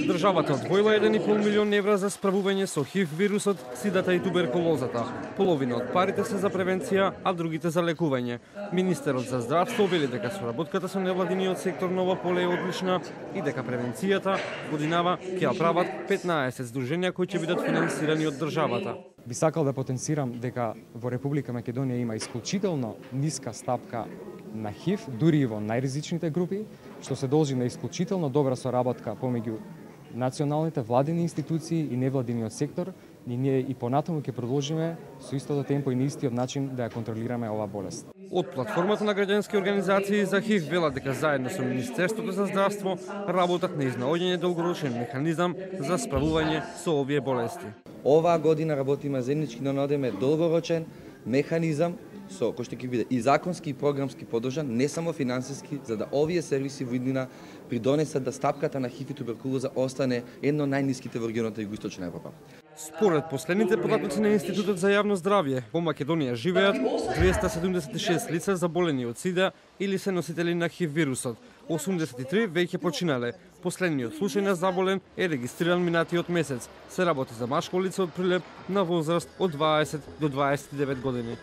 Државата одвоила 1,5 милион евра за справување со ХИВ вирусот, сидата и туберкулозата. Половина од парите се за превенција, а другите за лекување. Министерот за здравство вели дека соработката со невладиниот сектор на ова поле е одлична и дека превенцијата годинава ќе ја прават 15 здруженија кои ќе бидат финансирани од државата. Би сакал да потенцирам дека во Република Македонија има исклучително ниска стапка на ХИВ, дури и во најризичните групи, што се должи на исклучително добра соработка помеѓу националните владини институции и невладиниот сектор, и ние и понатаму ќе продолжиме со истото темпо и на истиот начин да ја контролираме оваа болест. Од платформата на граѓански организации за ХИВ велат дека заедно со Министерството за здравство работат на изнаоѓање долгорочен механизам за справување со овие болести. Оваа година работиме заеднички да најдеме долгорочен механизам со кој што ќе биде и законски и програмски поддржан, не само финансиски, за да овие сервиси во иднина придонесат да стапката на ХИВ и туберкулоза остане едно од најниските во регионот на Југоисточна Европа. Според последните податоци на Институтот за јавно здравје, во Македонија живеат 276 лица заболени од СИДА или се носители на ХИВ вирусот. 83 веќе починале. Последниот случај на заболен е регистриран минатиот месец. Се работи за машко лице од Прилеп на возраст од 20 до 29 години.